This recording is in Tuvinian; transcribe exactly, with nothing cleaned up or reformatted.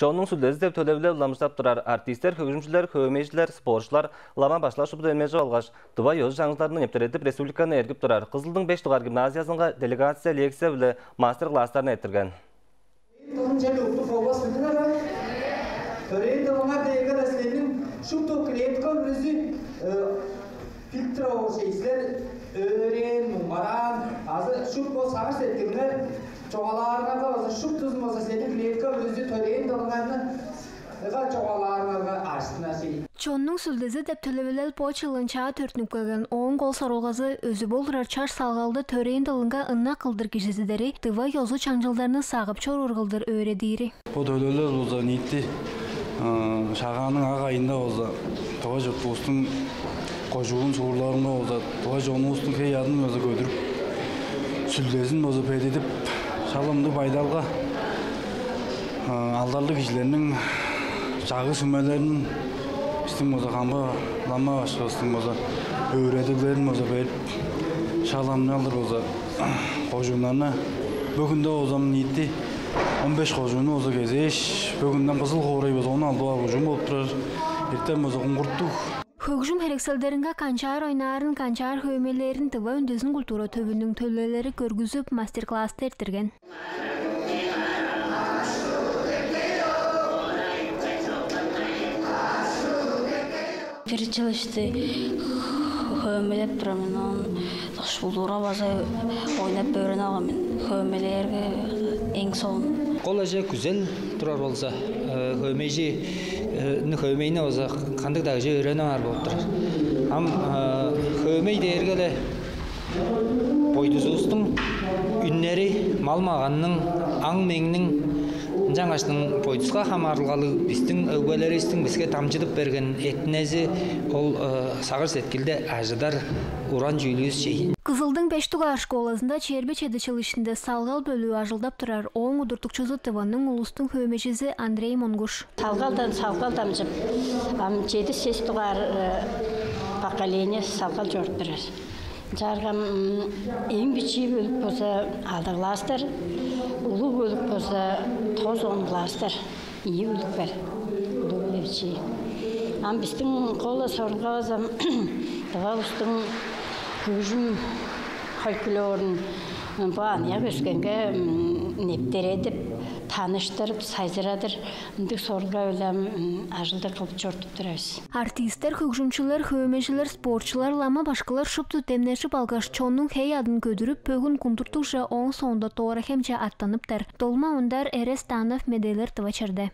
«Чоннуң сүлдези» деп төлевилел уламчылап турар артистер, хөгжүмчүлер, хөөмейжилер, спортчулар, лама башкылар шупту демнежип алгаш, тыва ёзу-чаңчылдарны нептередип, республиканы эргип турар Кызылдың беш дугаар гимназиязынга делегация лекция биле мастер-класстарны эрттирген. Төрээн дылың черле уттуп болбас билдиңер бе? Төрээн дылыңар дээрге-ле силерниң шупту клетка бүрүзү, э, фильтр овурчай, силер өөрээн, муңгараан, азы шупту бо сагыш-сеткилиңер чугаалаарыңарга база шуптузун база силерниң клетка бүрүзү төрээн дылыңарны ыга чугаалаарыңарга ажыттынар чей. «Чоннуң сүлдези» деп төлевилел бо чылын чаа төрүттүнүп келген. Ооң кол сорулгазы өзүп олурар чаш салгалды төрээн дылынга ынак кылдыр кижизидери, тыва ёзу-чаңчылдарны сагып чоруур кылдыр өөредири. Бо төлевилел болза ниити, э, Шагааның ак айында болза тыва чуртувустуң кожуун, суурларынга болза тыва чонувустуң хей-аъдын болза көдүрүп, сүлдезин болза бедидип, шала мындыг байдалга, э, алдарлыг кижилерниң чагыг-сүмелерин, бистиң болза Камба лама башкывыстың болза өөредиглерин болза берип, шала мынчалдыр болза кожууннарны, бөгүнде болза ам ниити он беш кожууну болза кезээш, бөгүнден Кызыл хоорай болза он алды дугаар кожуун болуп турар. Эртен болза Куңгуртуг. Хөгжүм херекселдеринге канчаар ойнаарын, канчаар хөөмейлээрин Тыва үндезин культура төвүнүң төлээлери көргүзүп, мастер-класс эрттирген. Бир чыл ишти хөөмелеп турар мен, оон шулдура база ойнап өөренип алган мен. Хөөмелээрге эң соон. Кол эже күзел турар болза, э, хөөмейжи, э, хөөмейни болза кандыг-даа кижи өөренип аар болуп турар. Ам, э, хөөмей дээрге-ле бойдузувустуң үннери, мал-маганның, аң-меңниң, ынчангаштың бойдуска хамаарылгалыг бистиң өгбелеривистиң биске дамчыдып берген эртинези, ол, э, сагыш-сеткилди ажыдар уран чүүлүвүс чей. Кызылдың беш дугаар школазында чээрби чеди чыл иштинде салгал бөлүү ажылдап турар. Ооң удуртукчузу Тываның улустуң хөөмейжизи Андрей Монгуш. Салгалдан салгал дамчып, ам чеди-сес дугаар, э, поколение салгал чоруп турар. Ынчаарга, м, эң бичии бөлүк болза алды класстар, улуг бөлүк болза тос, он класстар. Ийи бөлүк бар. Улуг, бичии. Ам бистиң кол-ла сорулгавыс ам тыва улустуң хөгжүм фольклорун, м, бо аныяк өскенге, м, нептередип, таныштырып, сайзырадыр, ындыг сорулга-биле ам, м, ажылды кылып чорудуп турар бис. Артистер, хөгжүмчүлер, хөөмейжилер, спортчулар, лама башкылар шупту демнежип алгаш, чоннуң хей-аъдын көдүрүп, бөгүн Куңгуртугже, ооң соонда Доора-Хемче аттаныптар. Долма Ондар, Эрес Танов, Медээлер Тыва черле.